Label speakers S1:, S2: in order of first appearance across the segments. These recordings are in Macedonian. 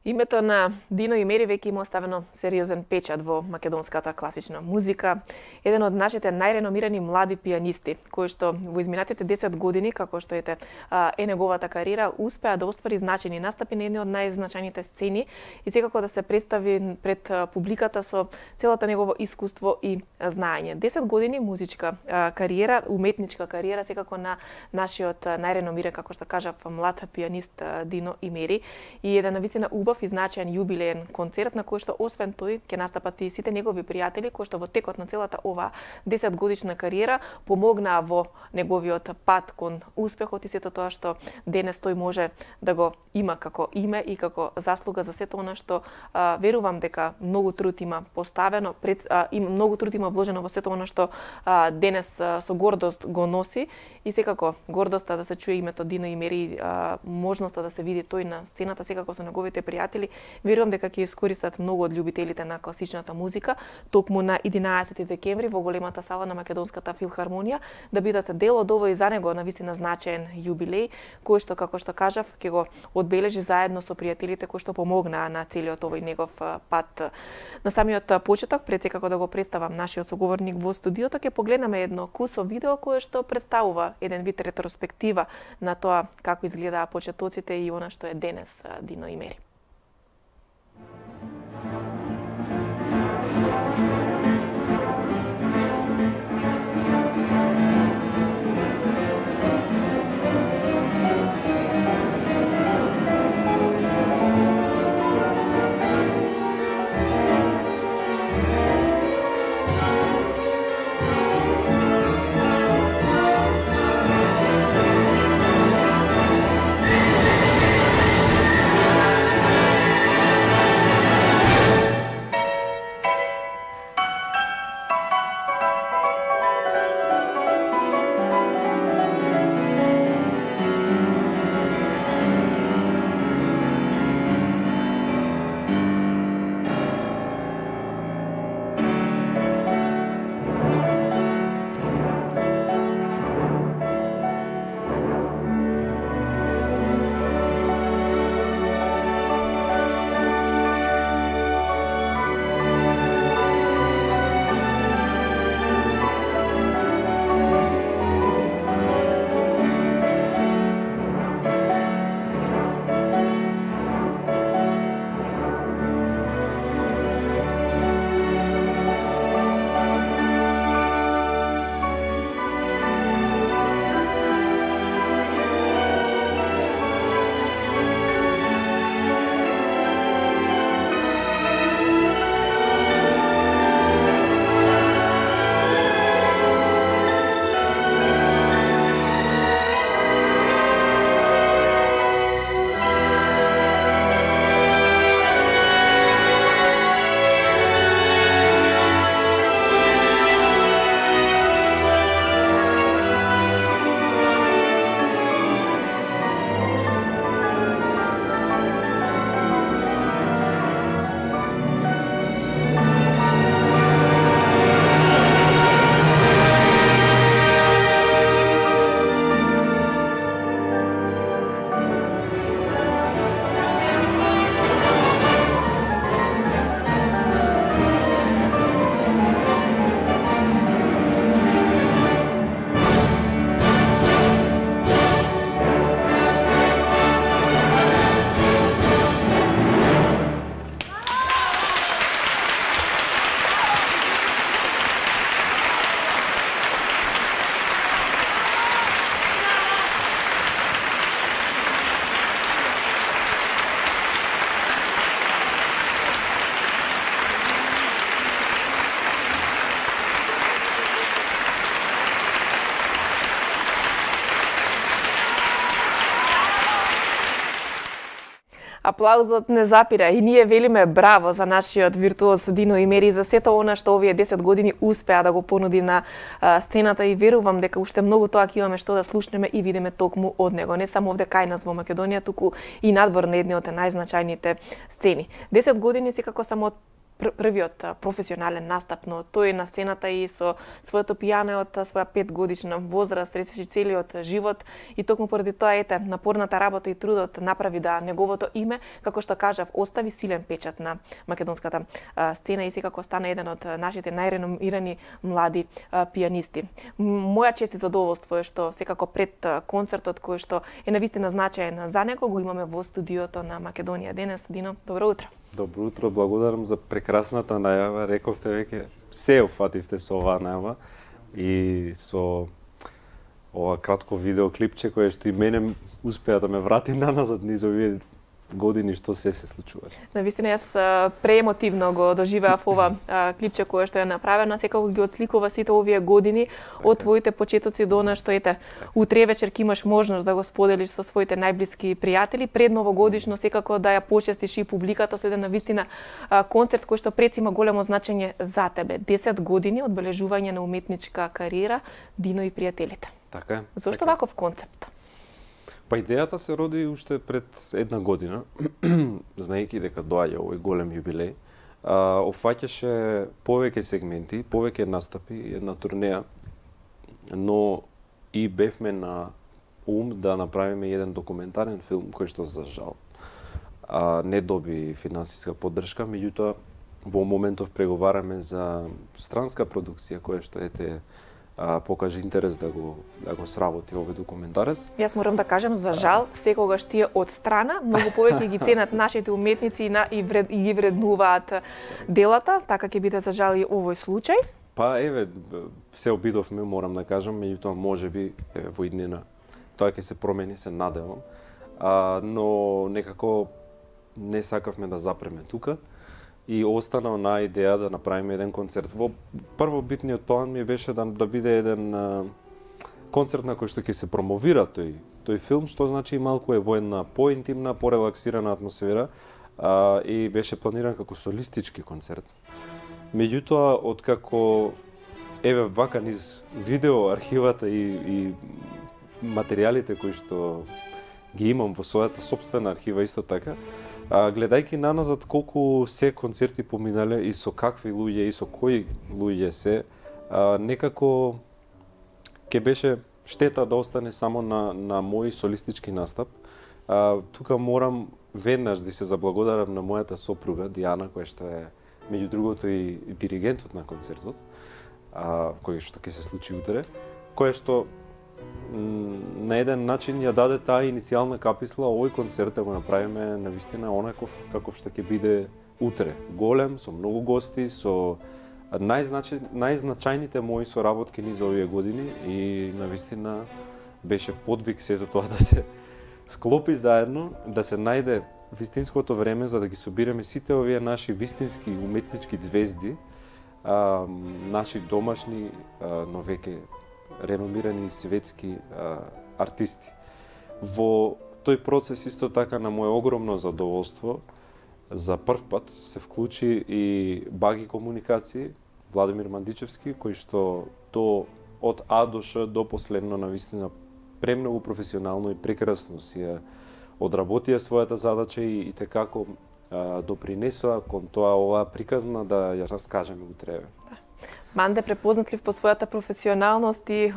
S1: Името на Дино Имери веќе има оставено сериозен печат во македонската класична музика. Еден од нашите најреномирани млади пијанисти, кој што во изминатите 10 години, како што е неговата кариера, успеа да оствари значајни настапи на едни од најзначајните сцени и секако да се представи пред публиката со целото негово искуство и знаење. 10 години музичка кариера, уметничка кариера, секако на нашиот најреномиран, како што кажав, млад пијанист Дино Имери, и еден навистина убав и значаен јубилеен концерт на кој што освен тој ќе настапат и сите негови пријатели кои што во текот на целата оваа 10 годишна кариера помогнаа во неговиот пат кон успехот и сето тоа што денес тој може да го има како име и како заслуга за сето она што верувам дека многу труд има поставено и многу труд има вложено во сето она што денес со гордост го носи и секако гордоста да се чуе името Дино Имери, можноста да се види тој на сцената секако со неговите пријатели, верувам дека ќе искористат многу од љубителите на класичната музика токму на 11 декември во големата сала на Македонската филхармонија да бидат дел од овој за него навистина значаен јубилеј кој што, како што кажав, ќе го одбележи заедно со пријателите кои што помогнаа на целиот овој негов пат. На самиот почеток, пред секако да го представам нашиот соговорник во студиото, ќе погледнеме едно кусо видео кое што представува еден вид ретроспектива на тоа како изгледаа почетоците и она што е денес Дино Имери. Аплаузот не запира и ние велиме браво за нашиот виртуоз Дино Имери за сето она што овие 10 години успеа да го понуди на сцената и верувам дека уште многу тоа ќе имаме што да слушнеме и видиме токму од него, не само овде кај нас во Македонија, туку и надвор на едни од најзначајните сцени. 10 години секако само првиот професионален настап, но тој на сцената и со своето пијано од своја 5-годишна возраст, ресеше целиот живот и токму поради тоа напорната работа и трудот направи да неговото име, како што кажав, остави силен печат на македонската сцена и секако стана еден од нашите најреномирани млади пијанисти. Моја чест и задоволство е што секако пред концертот кој што е навистина значаен за него го имаме во студиото на Македонија денес. Дино, добро утро.
S2: Добро утро, благодарам за прекрасната најава. Рековте веќе се офативте со оваа најава и со ова кратко видеоклипче кое што и мене успеа да ме врати наназад низ овие години што се случува.
S1: Навистина јас преемотивно го доживеав ова клипче кое што е направено, секако ги отсликува сите овие години од твоите почетоци до она што утре вечер ќе имаш можност да го споделиш со своите најблиски пријатели, пред новогодишно секако да ја почестиш и публиката со еден навистина концерт кој што пред има големо значење за тебе. 10 години одбележување на уметничка кариера, Дино и пријателите.
S2: Така е.
S1: Зошто ваков концепт?
S2: Па идејата се роди уште пред една година, знаејќи дека доаѓа овој голем јубилеј, опфаќаше повеќе сегменти, повеќе настапи, една турнеја, но и бевме на ум да направиме еден документарен филм кој што за жал не доби финансиска поддршка, меѓутоа во моментов преговараме за странска продукција која што покажа интерес да го сработи овој документарец.
S1: Јас морам да кажам, за жал, секогаш тие од страна многу повеќе ги ценат нашите уметници и ги вреднуваат делата, така ќе биде за жал и овој случај.
S2: Па еве, се обидовме, морам да кажам, меѓутоа можеби во иднина тоа ќе се промени, се надевам. Но некако не сакавме да запреме тука. И остана на идеја да направиме еден концерт. Во првобитниот план ми беше да биде еден концерт на кој што ќе се промовира тој филм, што значи малку е во една поинтимна, порелаксирана атмосфера и беше планиран како солистички концерт. Меѓутоа, откако еве вака низ видео архивата и материјалите кои што ги имам во својата сопствена архива исто така, гледајќи наназад колку се концерти поминале и со какви луѓе и со кои луѓе се, некако ќе беше штета да остане само на мој солистички настап. Тука морам веднаш да се заблагодарам на мојата сопруга Диана, која што е меѓу другото и диригентот на концертот, кој што ќе се случи утре, која што на еден начин ја даде таа иницијална каписла овој концерт да го направиме навистина онаков каков што ќе биде утре. Голем, со многу гости, со најзначајните мои соработки низ овие години и навистина беше подвиг сето тоа да се склопи заедно, да се најде вистинското време за да ги собираме сите овие наши вистински уметнички звезди, наши домашни, но веќе реномирани светски артисти. Во тој процес исто така на моје огромно задоволство за прв пат се вклучи и Баги комуникации, Владимир Мандичевски, кој што од А до Ш до последно навистина премногу професионално и прекрасно си одработија својата задача и tekako допринесоа кон тоа оваа приказна да ја раскажеме утре.
S1: Манде препознатлив по својата професионалност и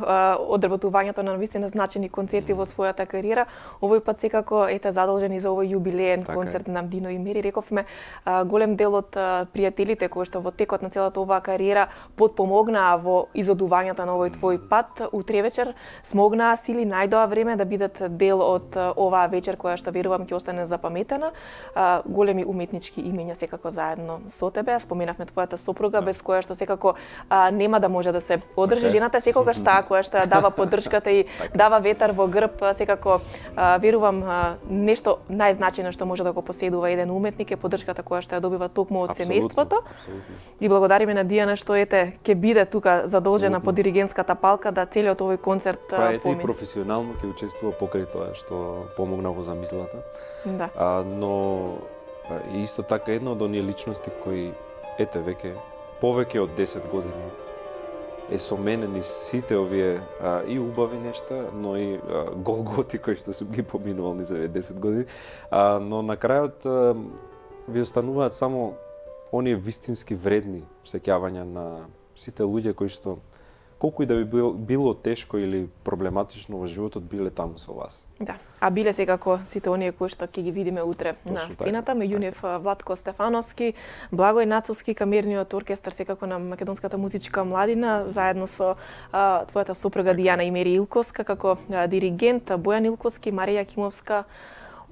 S1: одработувањето на навистина значени концерти во својата кариера, овој пат секако задолжен и за овој јубилеен концерт на Дино и Мери. Рековме, голем дел од пријателите кои што во текот на целата оваа кариера потпомогнаа во изодувањето на овој твој пат, утре вечер смогнаа сили најдоа време да бидат дел од оваа вечер која што верувам ќе остане запаметена. Големи уметнички имења секако заедно со тебе. Споменавме твојата сопруга без која што секако нема да може да се одржи. Жената е секогаш таа која што ја дава поддршката и дава ветар во грб. Секако верувам нешто најзначајно што може да го поседува еден уметник е поддршката која што ја добива токму од семејството. И благодариме на Дијана што ќе биде тука задолжена по диригентската палка да целиот овој концерт помине.
S2: Па и професионално ќе учествува покрај тоа што помогна во замислата.
S1: Да.
S2: Но исто така една од оние личности кои веќе повеќе од 10 години е со мене низ сите овие и убави нешта, но и голготи кои што сум ги поминувал низ овие 10 години. Но на крајот ви остануваат само оние вистински вредни сеќавања на сите луѓе кои што колку и да би било тешко или проблематично во животот, биле таму со вас.
S1: Да, а биле секако сите оние кои што ќе ги видиме утре на сцената, меѓу нив Владко Стефановски, Благој Нацовски, камерниот оркестар секако на македонската музичка младина, заедно со твојата сопруга Дијана Имери Илковска како диригент, Бојан Илковски, Марија Кимовска,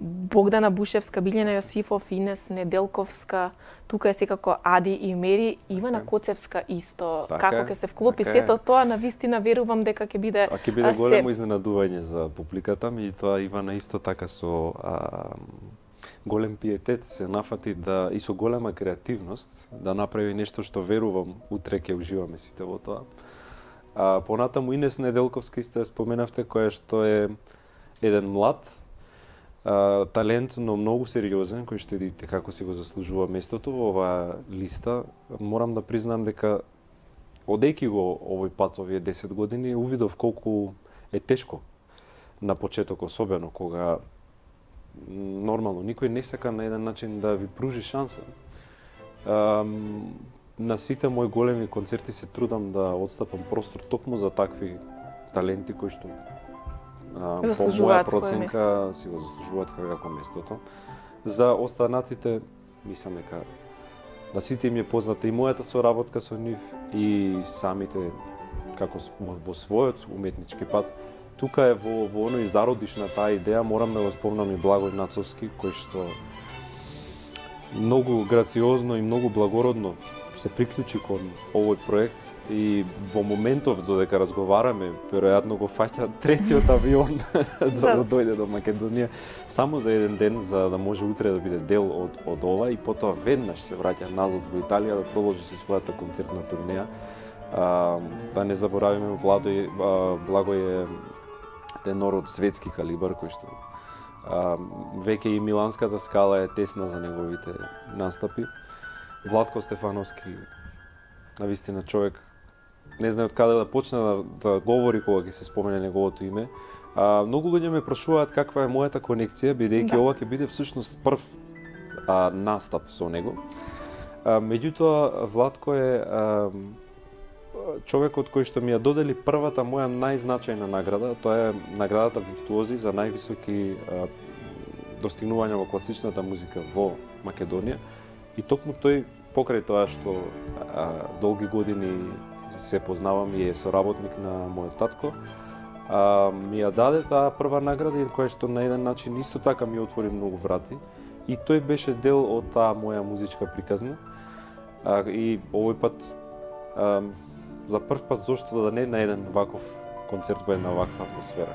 S1: Богдана Бушевска, Билјана Јосифов, Инес Неделковска, тука е секако Ади и Мери, Ивана Коцевска исто. Како ќе се вклопи сето тоа, на вистина верувам дека ќе биде
S2: ќе биде големо изненадување за публиката, меѓутоа Ивана исто така со голем пиетет се нафати и со голема креативност да направи нешто што верувам утре ќе уживаме сите во тоа. Понатаму Инес Неделковска исто ја споменавте, која што е еден млад талент, но многу сериозен, кој што видите како си го заслужува местото во оваа листа. Морам да признам дека одејќи го овој пат овие 10 години, увидов колку е тешко на почеток, особено кога нормално никој не сака на еден начин да ви пружи шанса. На сите мои големи концерти се трудам да отстапам простор токму за такви таленти кои што по моја проценка си го заслужуваат како местото. За останатите, мислам дека на сите им е позната и мојата соработка со нив и самите како во својот уметнички пат. Тука е во оној зародиш на таа идеја, морам да го спомнам и Благој Нацовски, кој што многу грациозно и многу благородно се приклучи кон овој проект и во моментов додека разговараме, веројатно го фаќа третиот авион за да дојде до Македонија само за еден ден, за да може утре да биде дел од ова и потоа веднаш се враќа назад во Италија да продолжи со својата концертна турнеја. Да не заборавиме, Благој е тенор од светски калибар кој што веќе и Миланската скала е тесна за неговите настапи. Владко Стефановски, навистина човек, не знае од каде да почне да говори кога ќе се спомене неговото име. Многу луѓе ме прашуваат каква е мојата конекција, бидејќи ова ќе биде всушност прв настап со него. Меѓутоа, Владко е човекот кој што ми ја додели првата моја најзначајна награда, тоа е наградата Виртуози за највисоки достигнувања во класичната музика во Македонија. И токму тој, покрај тоа што долги години се познавам и е соработник на мојот татко, ми ја даде таа прва награда, која што на еден начин исто така ми отвори многу врати. И тој беше дел од таа моја музичка приказна. И овој пат, за прв пат, зошто да не на еден ваков концерт во една ваква атмосфера.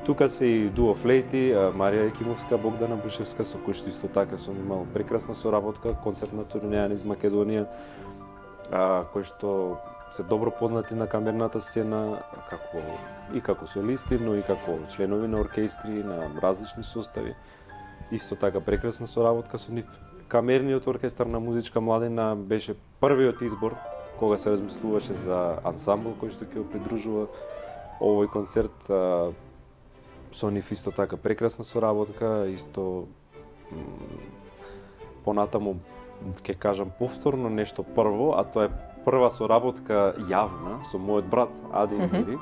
S2: Тука се и дуо флейти, Марија Екимовска, Богдана Бушевска, со кој што исто така сум имал прекрасна соработка, концертна турнеја низ Македонија, кои што се добро познати на камерната сцена, како солисти, но и како членови на оркестри, на различни состави. Исто така прекрасна соработка со нив. Камерниот оркестар на музичка младина беше првиот избор кога се размислуваше за ансамбл кој што ќе го придружува овој концерт. Со нив исто така прекрасна соработка, исто понатаму ќе кажам повторно нешто прво, а тоа е прва соработка јавна со мојот брат Ади Имери,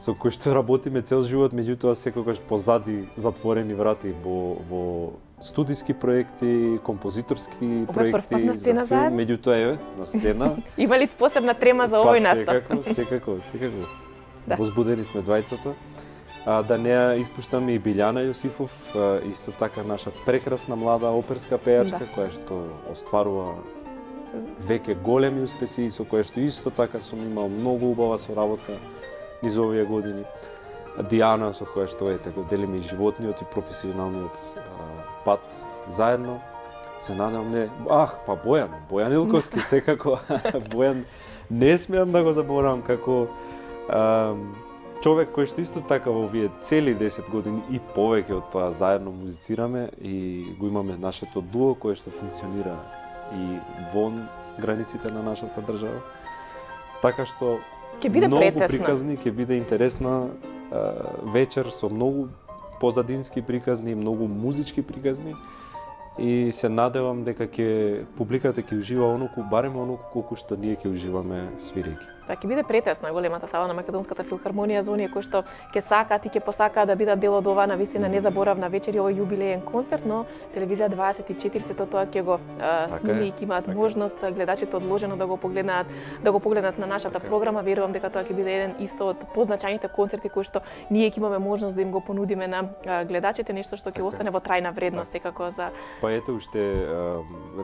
S2: со кој што работиме цел живот, меѓутоа секогаш позади затворени врати во студиски проекти, композиторски проекти
S1: на сцена
S2: за филм, меѓутоа е на сцена.
S1: Има ли посебна трема за овој настап?
S2: Секако. Возбудени сме двајцата. Да не ја испуштаме и Билјана Јосифов, исто така наша прекрасна млада оперска пејачка, која што остварува веќе големи успеси и со која што исто така сум имал многу убава соработка низ овие години. Дијана, со која што го делиме и животниот и професионалниот пат заедно. Се надевам Бојан Илковски, секако. Бојан не смеам да го заборавам како човек кој што исто така во овие цели 10 години и повеќе од тоа заедно музицираме и го имаме нашето дуо кое што функционира и вон границите на нашата држава. Така што
S1: ќе биде
S2: многу приказни, ќе биде интересна вечер со многу позадински приказни, многу музички приказни. и се надевам дека публиката ќе ужива оноку, барем оноку колку што ние ќе уживаме свирејќи.
S1: Така ќе биде претесна големата сала на Македонската филхармонија за оние кои што ќе сакаат и ќе посакаат да бидат дел од оваа навистина незаборавна вечер и овој јубилеен концерт, но телевизија 24 сето тоа ќе го сними и ќе имаат можност гледачите одложено да го погледнат на нашата програма. Верувам дека тоа ќе биде еден исто од позначајните концерти кои што ние ќе имаме можност да им го понудиме на гледачите, нешто што ќе остане во трајна вредност секако за.
S2: Па ете уште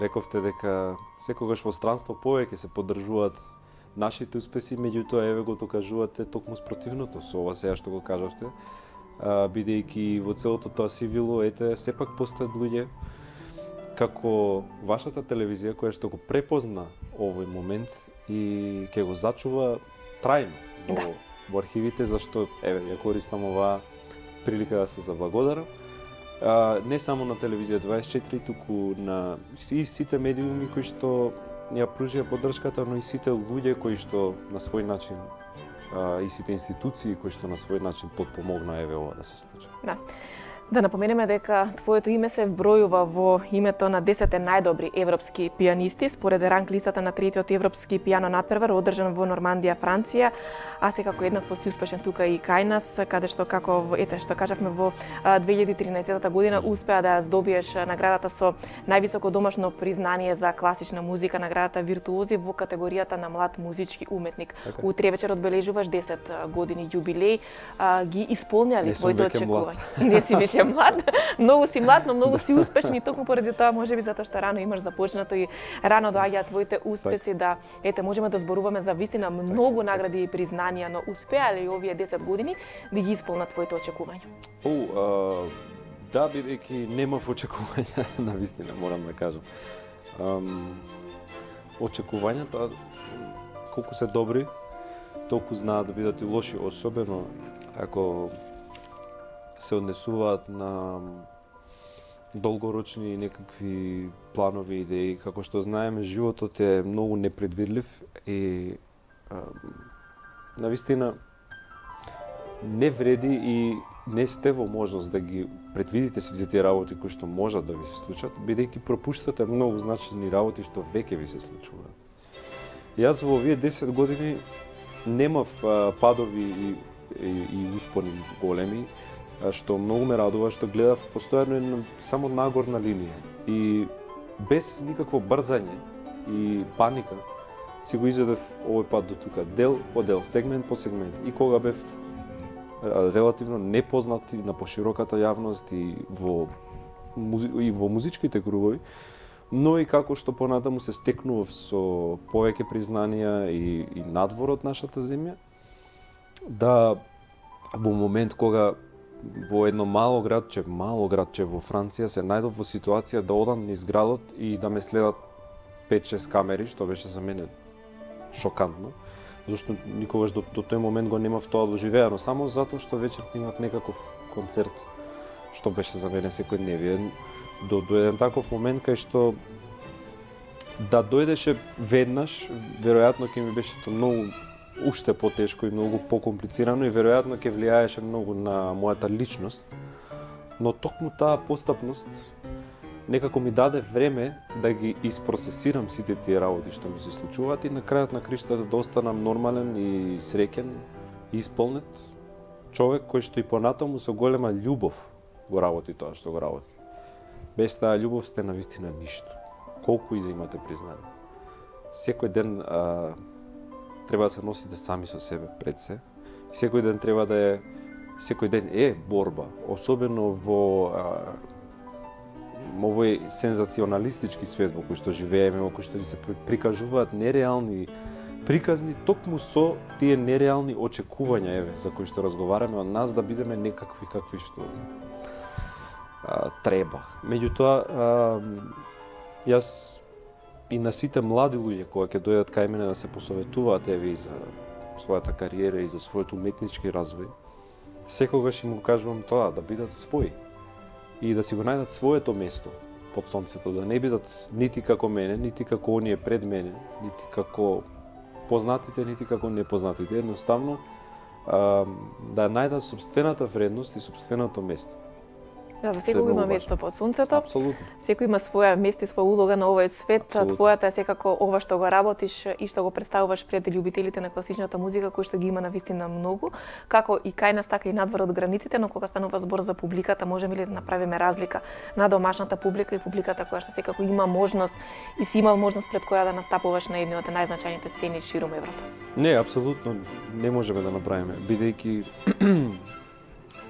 S2: рековте дека секогаш во странство повеќе се поддржуваат нашите успеси, меѓутоа еве го докажувате токму спротивното со ова сега што го кажавте, бидејќи во целото тоа сивило, ете, сепак постојат луѓе како вашата телевизија која што го препозна овој момент и ќе го зачува трајно во архивите, зашто еве ја користам оваа прилика да се заблагодарам. Не само на телевизија 24, туку на сите медиуми кои што ја пружија поддршката, но и сите луѓе кои што на свој начин и сите институции кои што на свој начин подпомогна еве ова да се случи.
S1: Да напоменеме дека твоето име се вбројува во името на 10 најдобри европски пианисти според ранг листата на третиот европски пијано надпревар одржан во Нормандија, Франција, а секако еднакво си успешен тука и кај нас, каде што како ете што кажавме во 2013 година успеа да ја здобиеш наградата со највисоко домашно признание за класична музика, наградата Виртуози во категоријата на млад музички уметник. Утре вечер одбележуваш 10 години јубилеј, ги исполнија ли твоите очекувања? Не си више млад, многу си млад, но многу си успешен и токму поради тоа, можеби затоа што рано имаш започнато и рано доаѓаат твоите успеси, да ете можеме да зборуваме за вистина многу награди и признанија, но успеа ли овие 10 години да ги исполнат твоите очекувања?
S2: Да, бидејќи немав очекувања на вистина, морам да кажам. Очекувањата колку се добри, толку знаат да бидат и лоши, особено ако се однесуваат на долгорочни некакви планови идеи. Како што знаеме, животот е многу непредвидлив и навистина не вреди и не сте во можност да ги предвидите сите тие работи кои што можат да ви се случат, бидејќи пропуштате многу значени работи што веќе ви се случуваат. Јас во овие 10 години немав падови и успони големи, што многу ме радува, што гледав постојано само нагорна линија и без никакво брзање и паника си го изедев овој пат до тука, дел по дел, сегмент по сегмент. И кога бев релативно непознат и на пошироката јавност и во музичките кругови, но и како што понатаму се стекнував со повеќе признанија и надвор од нашата земја, да во момент кога во едно мало градче во Франција се најдов во ситуација да одам низ градот и да ме следат 5-6 камери, што беше за мене шокантно, зашто никогаш до тој момент го немав тоа доживеано, само затоа што вечерта имав некаков концерт, што беше за мене секојдневие. До еден таков момент кај што да дојдеше веднаш, веројатно ќе ми беше тоа многу уште потешко и многу покомплицирано и веројатно ќе влијаеше многу на мојата личност, но токму таа постапност некако ми даде време да ги isпроцесирам сите тие работи што ми се случуваат и на крајот на криштата да останам нормален и среќен и исполнет човек кој што и понатаму со голема љубов го работи тоа што го работи. Без таа љубов сте навистина ништо, колку и да имате признание. Секој ден треба да се носите сами со себе пред се. Секој ден е борба, особено во овој сензационалистички свет во кој што живееме, во кој што ни се прикажуваат нереални приказни токму со тие нереални очекувања, еве, за кои што разговараме од нас да бидеме некакви какви што треба. Меѓутоа, јас и на сите млади луѓе кога ќе дојдат кај мене да се посоветуваат еве и за својата кариера и за својот уметнички развој, секогаш им го кажувам тоа, да бидат своји и да си го најдат своето место под сонцето, да не бидат нити како мене, нити како оние пред мене, нити како познатите, нити како непознатите, едноставно да најдат собствената вредност и собственото место.
S1: Да, за секој има место под сонцето.
S2: Апсолутно.
S1: Секој има своја место и своја улога на овој свет.
S2: Апсолутно.
S1: Твојата е секако ова што го работиш и што го представуваш пред љубителите на класичната музика, кои што ги има навистина многу, како и кај нас, така и надвор од границите, но кога станува збор за публиката, можеме ли да направиме разлика на домашната публика и публиката која што секако има можност и си имал можност пред која да настапуваш на едни од најзначајните сцени ширум Европа?
S2: Не, апсолутно не можеме да направиме, бидејќи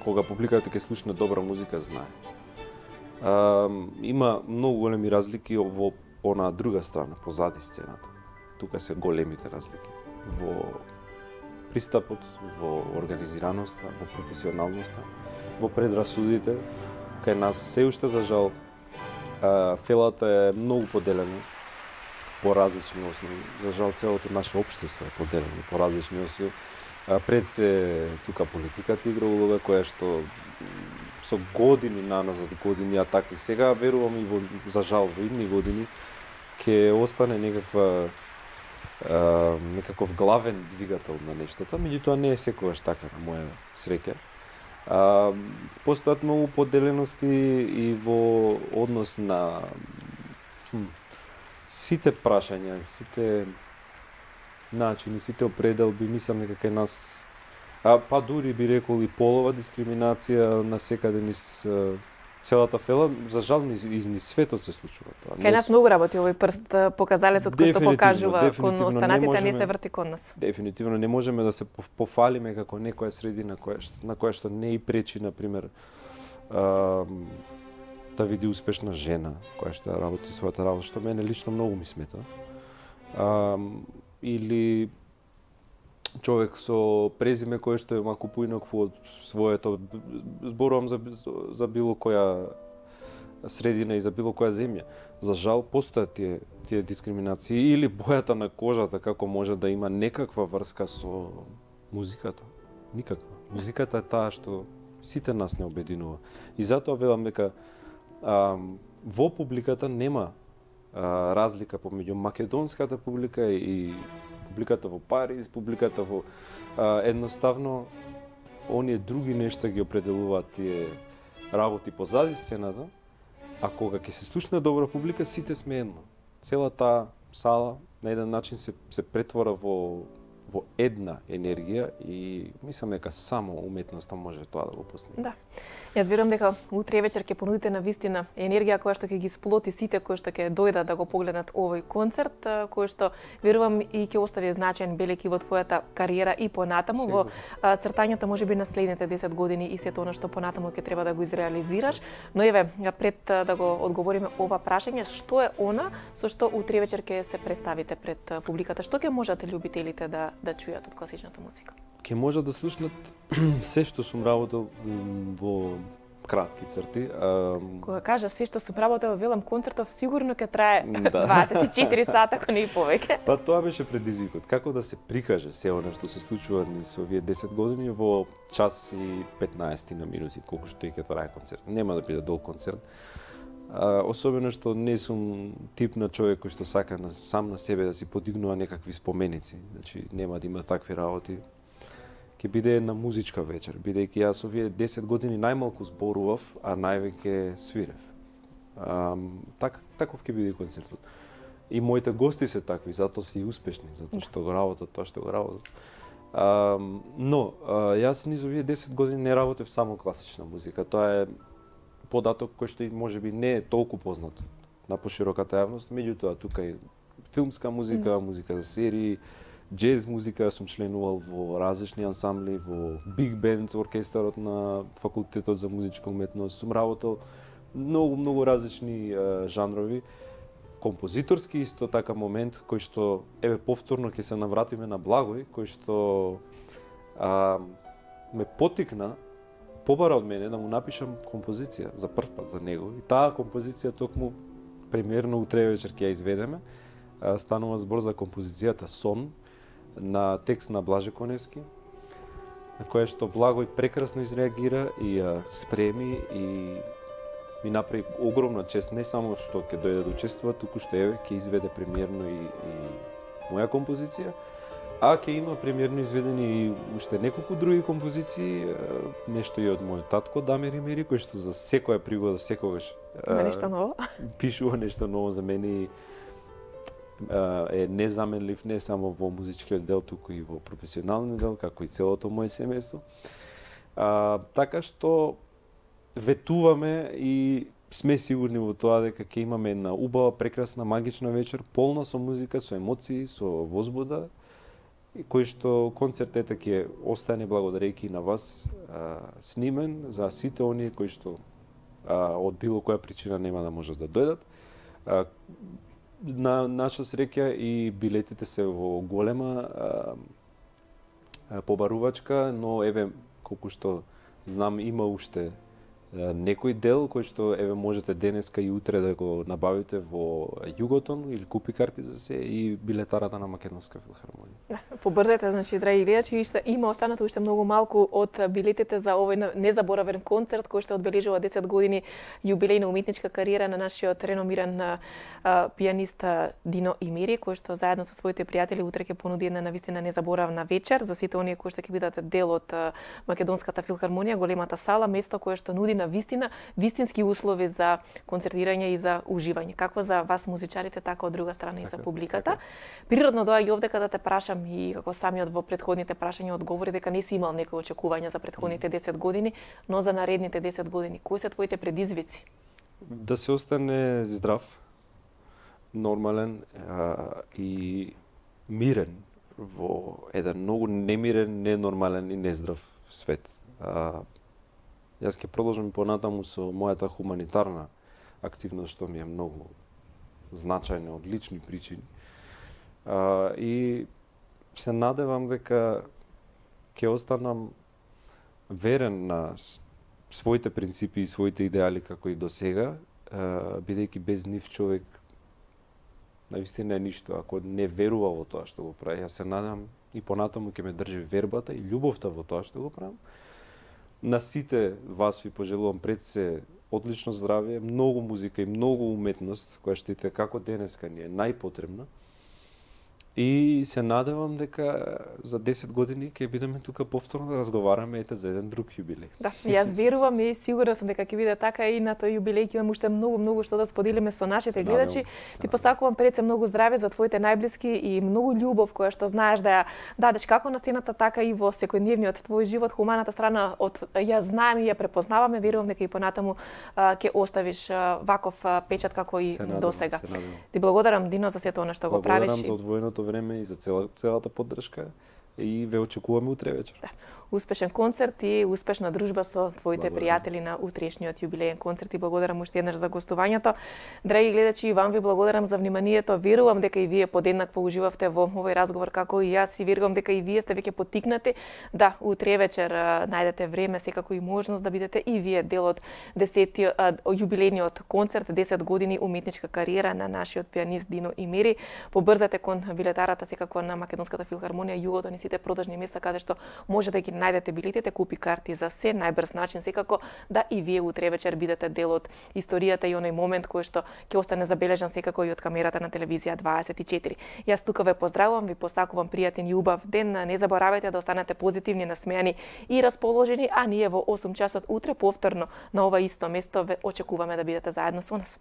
S2: кога публиката ќе слушне добра музика, знае. Има многу големи разлики во она друга страна, позади сцената. Тука се големите разлики. Во пристапот, во организираноста, во професионалноста, во предрасудите. Кај нас се уште, за жал, фелата е многу поделена по различни основи. За жал, целото наше општество е поделено по различни основи. Пред се тука политиката игра улога, која што со години наназад години, а така и сега верувам и во, за жал, во идни години ќе остане некаков главен двигател на нештата, меѓутоа не е секогаш така, на моја среќа. Постојат многу поделености и во однос на сите прашања, сите начини, сите определби, мислам дека кај нас, па дури би рекол и полова дискриминација на секаде низ целата фела, за жал низ светот се случува тоа.
S1: Кај нас многу работи овој прст, показалецот кој што покажува кон останатите, не се врти кон нас.
S2: Дефинитивно не можеме да се пофалиме како некоја средина на која што не и пречи, например, да види успешна жена која што работи својата работа, што мене лично многу ми смета. Или човек со презиме кое што е малку поинакво од своето, зборувам за било која средина и за било која земја. За жал постојат тие дискриминации, или бојата на кожата како може да има некаква врска со музиката. Никаква. Музиката е таа што сите нас не обединува. И затоа велам дека во публиката нема разлика помеѓу македонската публика и публиката во Париз, публиката во едноставно оние други нешта ги определуваат тие работи позади сцената, а кога ќе се слушне добра публика, сите сме едно. Целата сала на еден начин се претвора во една енергија и мислам дека само уметноста може тоа да го постигне.
S1: Да. Јас верувам дека утре вечер ќе понудите на вистина енергија која што ќе ги сплоти сите кои што ќе дојдат да го погледнат овој концерт, кој што верувам и ќе остави значаен белег и во твојата кариера и понатаму, во цртањето можеби на следните 10 години и сето она што понатаму ќе треба да го изреализираш. Но еве, пред да го одговориме ова прашање, што е она со што утре вечер ќе се представите пред публиката? Што ќе можат љубителите да чујат од класичната музика?
S2: Ќе можат да слушнат се што сум работел во кратки црти.
S1: Кога кажа се што сум работел, велам концертов сигурно ќе трае 24 сата, ако не и повеќе.
S2: Па тоа беше предизвикот. Како да се прикаже се она што се случува низ овие 10 години во час и 15 на минути, колку што ќе трае концерт. Нема да биде долг концерт. Особено што не сум тип на човек кој што сака сам на себе да си подигнува некакви споменици. Значи нема да има такви работи. Ќе биде една музичка вечер, бидејќи јас овие 10 години најмалку зборував, а највеќе свирев. Таков ќе биде концертот. И моите гости се такви, затоа се и успешни, затоа што го работат тоа што го работат. Но јас низ овие 10 години не работев само класична музика. Тоа е податок кој што можеби не е толку познат на пошироката јавност, меѓутоа тука е филмска музика, музика за серии, джез музика, сум членувал во различни ансамбли, во Биг Бенд, оркестарот на Факултетот за музичка уметност, сум работел многу различни жанрови, композиторски исто така момент кој што еве повторно ќе се навратиме на Благој, кој што ме потикна, побара од мене да му напишам композиција за прв пат за него. И таа композиција токму премиерно утре вечер ќе ја изведеме. Станува збор за композицијата Сон на текст на Блаже Коневски, на која што Благој прекрасно изреагира и ја спреми и ми направи огромна чест, не само што ќе дојде да учествува, туку што еве ќе изведе премиерно и моја композиција. А ќе има премиерно изведени и уште неколку други композиции, нешто и од мојот татко Дамир Имери, кој што за секоја пригода, секогаш
S1: нешто ново.
S2: Пишува нешто ново за мене и е незаменлив не само во музичкиот дел, туку и во професионалниот дел, како и целото моје семејство. Така што ветуваме и сме сигурни во тоа дека ќе имаме една убава, прекрасна, магична вечер, полна со музика, со емоции, со возбуда, кој што концерт ете ќе остане благодарејќи на вас снимен за сите оние кои што од било која причина нема да можат да дојдат. На наша среќа и билетите се во голема побарувачка, но еве колку што знам има уште некој дел кој што еве можете денеска и утре да го набавите во Југотон или купи карти за се и билетарата на Македонска филхармонија.
S1: Побрзајте, значи, драги гледачи, има останато уште многу малку од билетите за овој незаборавен концерт кој што одбележува 10 години јубилејна уметничка кариера на нашиот реномиран пијанист Дино Имери, кој што заедно со своите пријатели утре ќе понуди една навистина незаборавна вечер за сите оние кои што ќе бидат дел од Македонската филхармонија, големата сала, место кое што нуди на вистински услови за концертирање и за уживање. Како за вас музичарите, така од друга страна и за публиката. Природно доаѓа овдека да те прашам и како самиот во претходните прашања одговори дека не си имал некои очекувања за претходните 10 години, но за наредните 10 години. Кои се твоите предизвици?
S2: Да се остане здрав, нормален и мирен во еден многу немирен, ненормален и нездрав свет. Јас ќе продолжам понатаму со мојата хуманитарна активност, што ми е многу значајна од лични причини. И се надевам дека ќе останам верен на своите принципи и своите идеали како и до сега, бидејќи без нив човек навистина е ништо. Ако не верува во тоа што го прави, јас се надевам и понатаму ќе ме држи вербата и љубовта во тоа што го правам. На сите вас ви пожелувам пред се одлично здравје, многу музика и многу уметност, која што ите како денеска ни е најпотребна. И се надевам дека за 10 години ќе бидеме тука повторно да разговараме ете за еден друг јубилеј.
S1: Да, јас верувам и сигурна сум дека ќе биде така и на тој јубилеј ќе имаме уште многу што да споделиме со нашите гледачи. Ти посакувам пред се многу здравје за твоите најблиски и многу љубов која што знаеш да ја дадеш како на сцената, така и во секојдневниот твој живот. Хуманата страна од ја знаеме и ја препознаваме, верувам дека и понатаму ќе оставиш ваков печат како и досега. Ти благодарам, Дино, за сето она што го правиш.
S2: Благодарам за одвоеното време и за целата поддршка и ве очекуваме утре вечер.
S1: Да. Успешен концерт и успешна дружба со твоите пријатели на утрешниот јубилеен концерт и благодарам уште еднаш за гостувањето. Драги гледачи, и вам ви благодарам за вниманието. Верувам дека и вие подеднакво уживавте во овој разговор како и јас и верувам дека и вие сте веќе поттикнати да утре вечер најдете време, секако и можност да бидете и вие дел од 10-тиот јубилејниот концерт 10 години уметничка кариера на нашиот пијанист Дино Имери. Побрзате кон билетарата секако на Македонската филхармонија Југотон и сите продажни места каде што може да ги најдете билетите, купи карти за се, најбрз начин секако да и вие утре вечер бидете дел од историјата и оној момент кој што ќе остане забележан секако и од камерата на телевизија 24. Јас тука ве поздравувам, ви посакувам пријатен и убав ден. Не заборавајте да останете позитивни, насмејани и расположени, а ние во 8 часот утре повторно на ова исто место ве очекуваме да бидете заедно со нас.